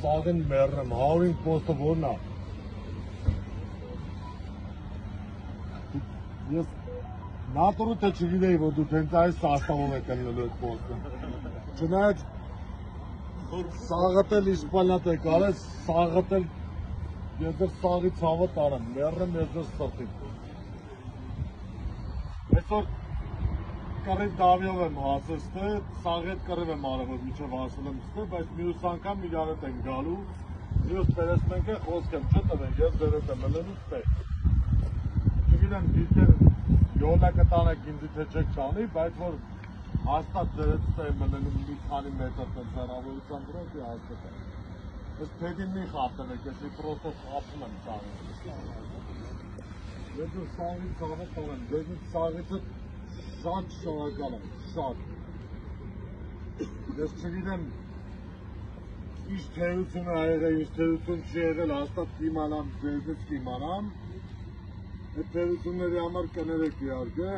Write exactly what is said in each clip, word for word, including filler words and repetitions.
Սաղին մերնեմ, հարին պոստը որն է։ Ես նատորը թե չգիտեի, որ դու տենց այս սաստավոր եք ընլելու այդ պոստը։ Չնայած սաղըտ էլ իսպալնատ է կարես, սաղըտ էլ ես դեր սաղի ծավը տարեմ, մերնեմ ես դեր սրտիմ։ Այսօր կռիվ դավյով եմ հասել ստե, սաղի հետ կռիվ եմ արել, որ միջև հասել եմ ստե, բայց մյուս անգամ իրար հետ ենք գալու, մյուս պերեսմենք է խոսք եմ չտվեն, ես դեր հետ եմ ելելու ստե։ Չգիտեմ դիտեր յոլա կտանեք ինձի թե չեք տանի, բայց որ հաստատ դեր հետ ստե եմ ելելու մի քանի մետր տենց հեռավորության դրոց է հաստատ է։ Ես փեդին մի խապտվեք, ես մի պրոստո խապում եմ սաղին։ Ես դու սաղի ծավը տանեմ, դեզ սաղիցը շատ շարակալ եմ, շատ։ Ես չգիտեմ ինչ թերություն է եղել, ինչ թերություն չի եղել, հաստատ կիմանամ, ձեզնից կիմանամ։ Այդ թերությունների համար կներեք իհարկե,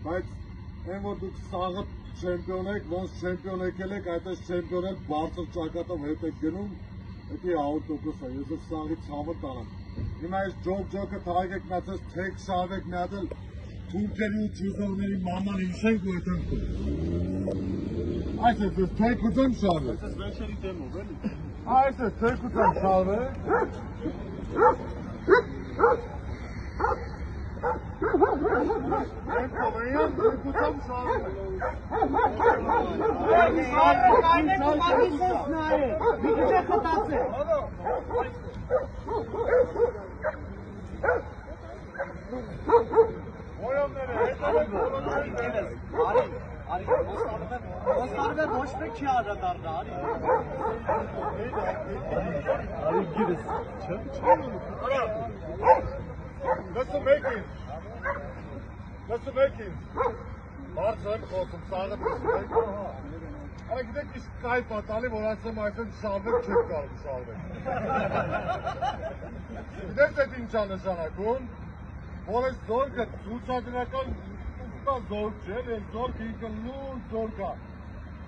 բայց այն որ դուք սաղը չեմպիոն եք, ոնց չեմպիոն եկել եք, այդպես չեմպիոն եք բարձր ճակատով հետ եք գնում, էդի հինգ տոկոս է, ես սաղի ցավը տանեմ։ Հիմա այս ջոկ ջոկը թաղեք մացած թեք շավեք մի հատ էլ թուրքերի ու չիզողների մաման ինշենք ու էտ ենք Այս ես ես թեքուծեմ շավը։ Այս ես վերջերի դեմով էլի։ Այս ես թեքուծեմ շավը։ Ենք կովեյան թեքուծեմ շավը։ Կարնեք ու մագիսոս նայ է, մի քիչ է խտած է։ Ոյամները հետավեք բոլորները Արի, արի, ոստարվե ոչ մեկ չի աջադարնա, արի։ Արի գիրս, չէ, չէ։ Լսում եք ինձ, լսում եք ինձ, բարձր եմ խոսում, սաղը լսում եք, արա գիտեք իշ կայ պատալի, որ ասեմ այսեն շարվեք չեք կարող շարվեք։ Գիտեք էդ ինչա նշանակում, որ այս զորքը ցուցադրական ուստա զորք չէ, այս զորքը ինքը լուրջ զորք է։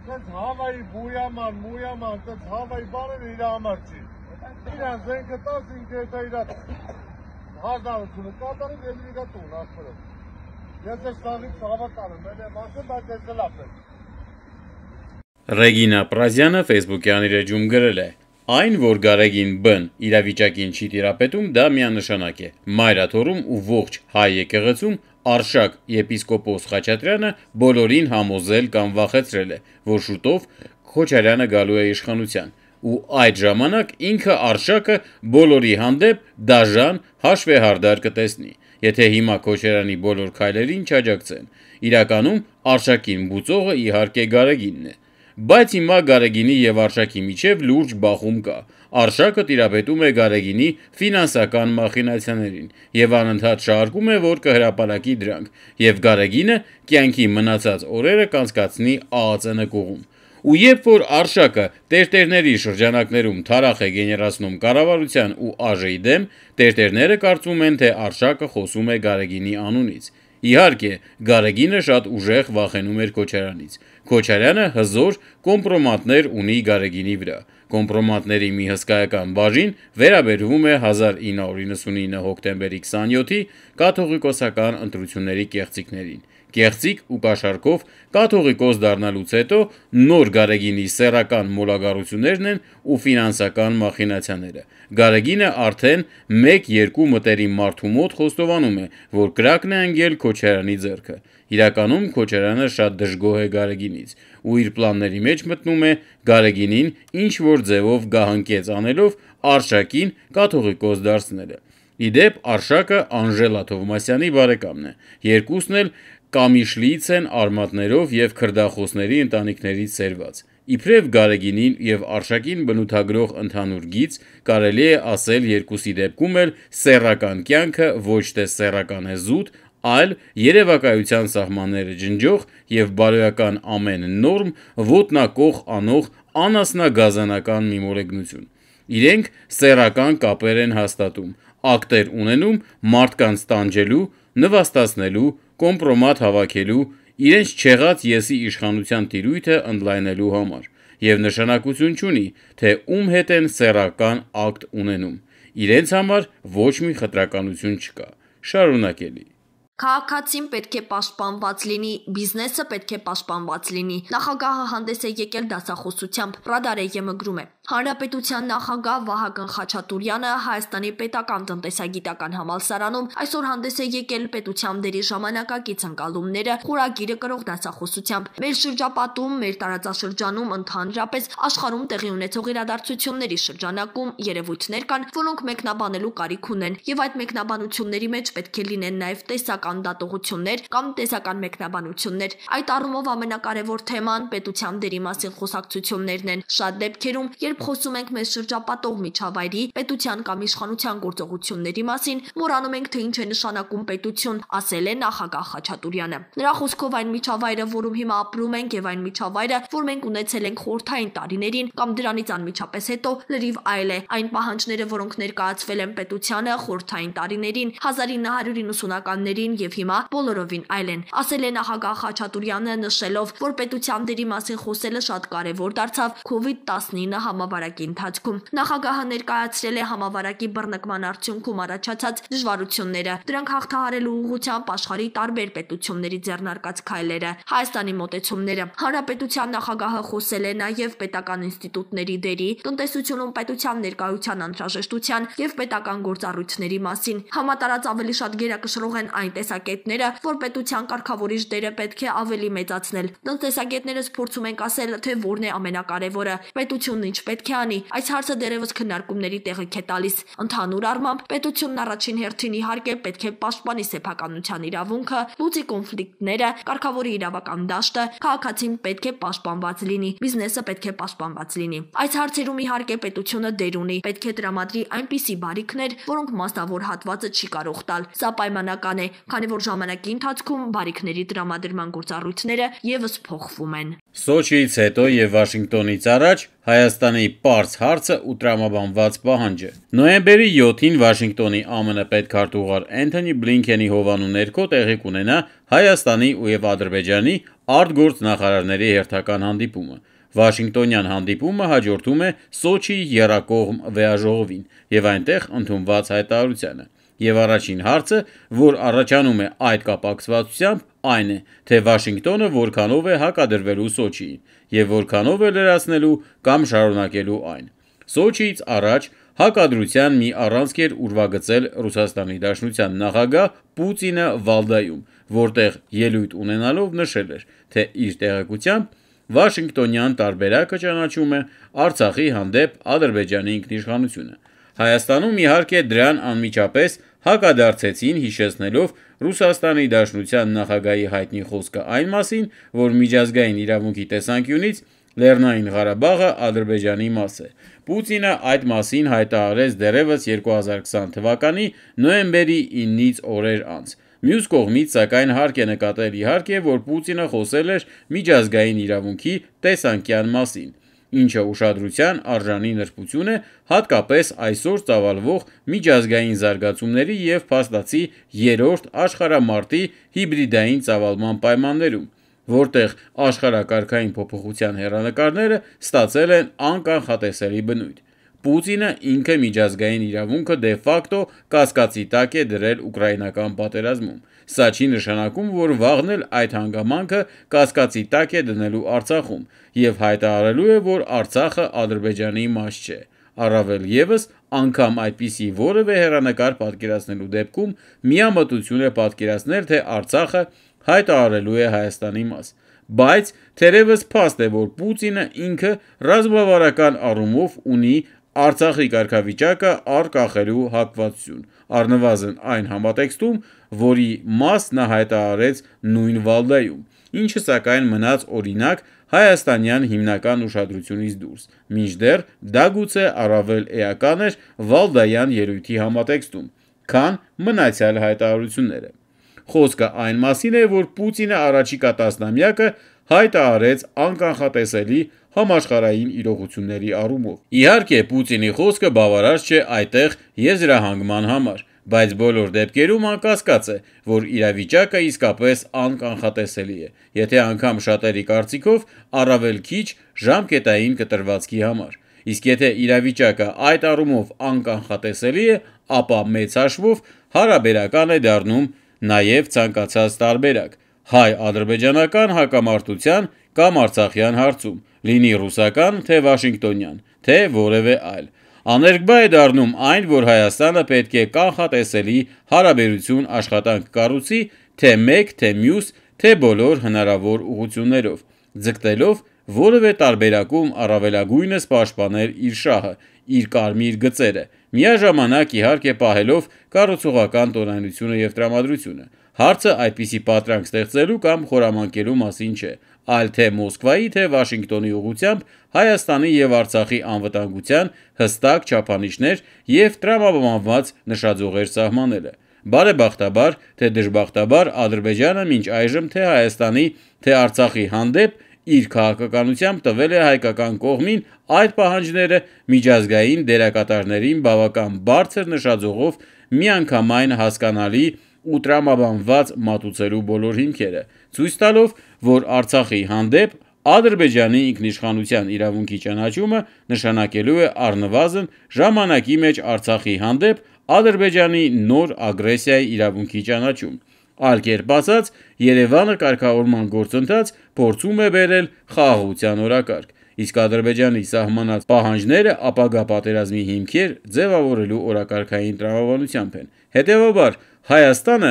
Տենց հավայի բույաման, մույաման, տենց հավայի բաները իր համար չի։ Իրան զենքը տաս ինքը հետա իր հազարությունը կատարում և իր տուն ասպրով։ Ես ես սաղից հավատան եմ, էլ եմ ասում, բայց ես լապ եմ։ Ռեգինա Պրազյանը Facebook-յան իր էջում գրել է. Այն, որ Գարեգին Բ-ն իրավիճակին չի տիրապետում, դա միանշանակ է։ Մայրաթորում ու ողջ հայ եկեղեցում Արշակ եպիսկոպոս Խաչատրյանը բոլորին համոզել կամ վախեցրել է, որ շուտով Քոչարյանը գալու է իշխանության, ու այդ ժամանակ ինքը Արշակը բոլորի հանդեպ դաժան հաշվեհարդար կտեսնի, եթե հիմա Քոչարյանի բոլոր քայլերին չաջակցեն։ Իրականում Արշակին բուծողը իհարկե Գարեգինն է։ Բայց հիմա Գարեգինի և Արշակի միջև լուրջ բախում կա։ Արշակը տիրապետում է Գարեգինի ֆինանսական մախինացիաներին և անընդհատ շարունակում է, որ կհրապարակի դրանք, և Գարեգինը կյանքի մնացած օրերը կանցկացնի ԱԱԾ նկուղում։ Ու երբ որ Արշակը տերտերների շրջանակներում թարախ է գեներացնում կառավարության ու ԱԺ-ի դեմ, տերտերները կարծում են, թե Արշակը խոսում է Գարեգինի անունից։ Իհարկե, Գարեգինը շատ ուժեղ վախենում էր Քոչարյանից։ Քոչարյանը հզոր կոմպրոմատներ ունի Գարեգինի վրա։ Կոմպրոմատների մի հսկայական բաժին վերաբերվում է հազար ինը հարյուր իննսունինը հոկտեմբերի քսաներկուսի կաթողիկոսական ընտրությունների կեղծիքներին։ Կեղծիք ու կաշառքով կաթողիկոս դառնալուց հետո նոր Գարեգինի սեռական մոլագարություններն են ու ֆինանսական մախինացիաները։ Գարեգինը արդեն մեկ-երկու մտերիմ մարդու մոտ խոստովանում է, որ կրակն է ընկել Քոչարյանի ձեռքը։ Իրականում Քոչարյանը շատ դժգոհ է Գարեգինից ու իր պլանների մեջ մտնում է Գարեգինին ինչ-որ ձևով գահանկեց անելով Արշակին կաթողիկոս դարձնելը։ Իդեպ Արշակը Անժելա Թովմասյանի բարեկամն է։ Երկուսն էլ կամիշլից են արմատներով և քրդախոսների ընտանիքներից սերված։ Իբրև Գարեգինին և Արշակին բնութագրող ընդհանուր գիծ կարելի է ասել երկուսի դեպքում էլ սեռական կյանքը ոչ թե սեռական է զուտ, այլ երևակայության սահմանները ջնջող և բարոյական ամեն նորմ ոտնակոխ անող անասնագազանական մի մոլեգնություն։ Իրենք սեռական կապեր են հաստատում, ակտեր ունենում մարդկանց տանջելու, նվաստացնելու, կոմպրոմատ հավաքելու, իրենց չեղած եսի իշխանության տիրույթը ընդլայնելու համար, և նշանակություն չունի, թե ում հետ են սեռական ակտ ունենում, իրենց համար ոչ մի խտրականություն չկա, շարունակելի։ Քաղաքացին պետք է պաշտպանված լինի, բիզնեսը պետք է պաշտպանված լինի։ Նախագահը հանդես է եկել դասախոսությամբ, Ռադարեյեմը գրում է. Հանրապետության նախագահ Վահագն Խաչատուրյանը Հայաստանի պետական տնտեսագիտական համալսարանում այսօր հանդես է եկել պետության դերի ժամանակակից ընկալումները խորագիրը կրող դասախոսությամբ։ Մեր շրջապատում, մեր տարածաշրջանում, ընդհանրապես աշխարհում տեղի ունեցող իրադարձությունների շրջանակում երևույթներ կան, որոնք մեկնաբանելու կարիք ունեն, եւ այդ մեկնաբանությունների մեջ պետք է լինեն նաեւ տեսական դատողություններ կամ տեսական մեկնաբանություններ։ Այդ առումով ամենակարևոր թեման պետության դերի մասին խոսակցություններն են։ Շատ դեպքերում, երբ խոսում ենք մեզ շրջապատող միջավայրի, պետության կամ իշխանության գործողությունների մասին, մոռանում ենք, թե ինչ է նշանակում պետություն, ասել է նախագահ Խաչատուրյանը։ Նրա խոսքով այն միջավայրը, որում հիմա ապրում ենք, եւ այն միջավայրը, որ մենք ունեցել ենք խորհրդային տարիներին կամ դրանից անմիջապես հետո, լրիվ այլ է։ Այն պահանջները, որոնք ներկայացվել են պետությանը խորհրդային տարիներին, հազար ինը հարյուր իննսունականներին եւ հիմա բոլորովին այլ են, ասել է նախագահ Խաչատուրյանը, նշելով, որ պետության դերի մասին խոսելը շատ կարեւոր դարձավ քովիդ տասնինը համավարակի ընթացքում։ Նախագահը ներկայացրել է համավարակի բռնկման արդյունքում առաջացած դժվարությունները, դրանք հաղթահարելու ուղղությամբ աշխարհի տարբեր պետությունների ձեռնարկած քայլերը, Հայաստանի մոտեցումները։ Հանրապետության նախագահը խոսել է նաև պետական ինստիտուտների դերի, տնտեսությունում պետության ներկայության անհրաժեշտության եւ պետական գործառույթների մասին։ Համատարած ավելի շատ գերակշռող են այն տեսակետները, որ պետության կարգավորիչ դերը պետք է ավելի մեծացնել։ Տնտեսագետներս փորձում ենք ասել, թե որն է ամենակարևորը, պետությունն ինչ պետք է անի։ Այս հարցը դեռևս քննարկումների տեղիք է տալիս։ Ընդհանուր առմամբ, պետությունն առաջին հերթին իհարկե պետք է պաշտպանի սեփականության իրավունքը, լուծի կոնֆլիկտները, կարգավորի իրավական դաշտը, քաղաքացին պետք է պաշտպանված լինի, բիզնեսը պետք է պաշտպանված լինի։ Այս հարցերում իհարկե պետությունը դեր ունի, պետք է տրամադրի այնպիսի բարիքներ, որոնք մասնավոր հատվածը չի կարող տալ։ Սա պայմանական է, քանի որ ժամանակի ընթացքում բարիքների տրամադրման գործառույթները եւս փոխվում են։ Սոչիից հետո եւ Վաշինգտոնից առաջ Հայաստանի պարզ հարցը ու տրամաբանված պահանջը։ Նոյեմբերի յոթին Վաշինգտոնի ԱՄՆ պետքարտուղար Էնթոնի Բլինքենի հովանու ներքո տեղի կունենա Հայաստանի ու եւ Ադրբեջանի արտգործնախարարների հերթական հանդիպումը։ Վաշինգտոնյան հանդիպումը հաջորդում է Սոչիի եռակողմ վեաժողովին եւ այնտեղ ընդունված հայտարարությանը։ Եվ առաջին հարցը, որ առաջանում է այդ կապակցվածությամբ, այն է, թե Վաշինգտոնը որքանով է հակադրվելու Սոչիին եւ որքանով է լրացնելու կամ շարունակելու այն։ Սոչիից առաջ հակադրության մի առանցք էր ուրվագծել Ռուսաստանի Դաշնության նախագահ Պուտինը Վալդայում, որտեղ ելույթ ունենալով նշել էր, թե իր տեղեկությամբ Վաշինգտոնյան տարբերակը ճանաչում է Արցախի հանդեպ Ադրբեջանի ինքնիշխանությունը։ Հայաստանում իհարկե դրան անմիջապես հակադարձեցին, հիշեցնելով Ռուսաստանի Դաշնության նախագահի հայտնի խոսքը այն մասին, որ միջազգային իրավունքի տեսանկյունից Լեռնային Ղարաբաղը Ադրբեջանի մաս է։ Պուտինը այդ մասին հայտարարեց դեռևս երկու հազար քսան թվականի նոյեմբերի իննից օրեր անց։ Մյուս կողմից, սակայն, հարկ է նկատել իհարկե, որ Պուտինը խոսել էր միջազգային իրավունքի տեսանկյան մասին, ինչը ուշադրության արժանի նրբություն է հատկապես այսօր ծավալվող միջազգային զարգացումների և փաստացի երրորդ աշխարհամարտի հիբրիդային ծավալման պայմաններում, որտեղ աշխարհակարգային փոփոխության հեռանկարները ստացել են անկանխատեսելի բնույթ։ Պուտինը ինքը միջազգային իրավունքը դե ֆակտո կասկածի տակ է դրել ուկրաինական պատերազմում։ Սա չի նշանակում, որ վաղն էլ այդ հանգամանքը կասկածի տակ է դնելու Արցախում եւ հայտարարելու է, որ Արցախը Ադրբեջանի մաս չէ։ Առավել եւս, անգամ այդպիսի որևէ հեռանկար պատկերացնելու դեպքում միամտություն է պատկերացնել, թե Արցախը հայտարարելու է Հայաստանի մաս։ Բայց թերևս փաստ է, որ Պուտինը ինքը ռազմավարական առումով ունի Արցախի կարգավիճակը առկախելու հակվածություն, առնվազն այն համատեքստում, որի մաս նա հայտարարեց նույն Վալդայում, ինչը սակայն մնաց օրինակ հայաստանյան հիմնական ուշադրությունից դուրս, մինչդեռ դա գուցե առավել էական էր Վալդայան ելույթի համատեքստում, քան մնացյալ հայտարարությունները։ Խոսքը այն մասին է, որ Պուտինը առաջիկա տասնամյակը հայտը արեց անկանխատեսելի համաշխարհային իրողությունների առումով։ Իհարկե, Պուտինի խոսքը բավարար չէ այդտեղ եզրահանգման համար, բայց բոլոր դեպքերում անկասկած է, որ իրավիճակը իսկապես անկանխատեսելի է, եթե անգամ շատերի կարծիքով առավել քիչ ժամկետային կտրվածքի համար։ Իսկ եթե իրավիճակը այդ առումով անկանխատեսելի է, ապա մեծ հաշվով հարաբերական է դառնում նաև ցանկացած տարբերակ հայ-ադրբեջանական հակամարտության կամ արցախյան հարցում, լինի ռուսական, թե վաշինգտոնյան, թե որևէ այլ։ Աներկբա է դառնում այն, որ Հայաստանը պետք է կանխատեսելի հարաբերություն աշխատանք կառուցի թե մեկ, թե մյուս, թե բոլոր հնարավոր ուղղություններով, ձգտելով որևէ տարբերակում առավելագույնս պաշտպանել իր շահը, իր կարմիր գծերը, միաժամանակ իհարկե պահելով կառուցողական տոնայնությունը և տրամադրությունը։ Հարցը այդպիսի պատրանք ստեղծելու կամ խորամանկելու մասին չէ, այլ թե Մոսկվայի, թե Վաշինգտոնի ուղղությամբ Հայաստանի և Արցախի անվտանգության հստակ չափանիշներ և տրամաբանված նշաձողեր սահմանելը։ Բարեբախտաբար, թե դժբախտաբար, Ադրբեջանը մինչ այժմ թե Հայաստանի, թե Արցախի հանդեպ իր քաղաքականությամբ տվել է հայկական կողմին այդ պահանջները միջազգային դերակատարներին բավական բարձր նշաձողով միանգամայն հասկանալի ու տրամաբանված մատուցելու բոլոր հիմքերը, ցույց տալով, որ Արցախի հանդեպ Ադրբեջանի ինքնիշխանության իրավունքի ճանաչումը նշանակելու է առնվազն ժամանակի մեջ Արցախի հանդեպ Ադրբեջանի նոր ագրեսիայի իրավունքի ճանաչում։ Այլ կերպ ասած, Երևանը կարգավորման գործընթաց փորձում է բերել խաղաղության օրակարգ, իսկ Ադրբեջանի սահմանած պահանջները ապագա պատերազմի հիմքեր ձևավորելու օրակարգային տրամաբանությամբ են։ Հետևաբար, Հայաստանը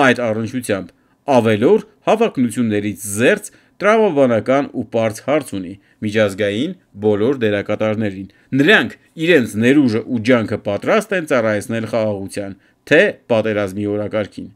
այդ առնչությամբ ավելորդ հավակնություններից զերծ տրամաբանական ու պարզ հարց ունի միջազգային բոլոր դերակատարներին։ Նրանք իրենց ներուժը ու ջանքը պատրաստ են ծառայեցնել խաղաղության, թե պատերազմի օրակարգին։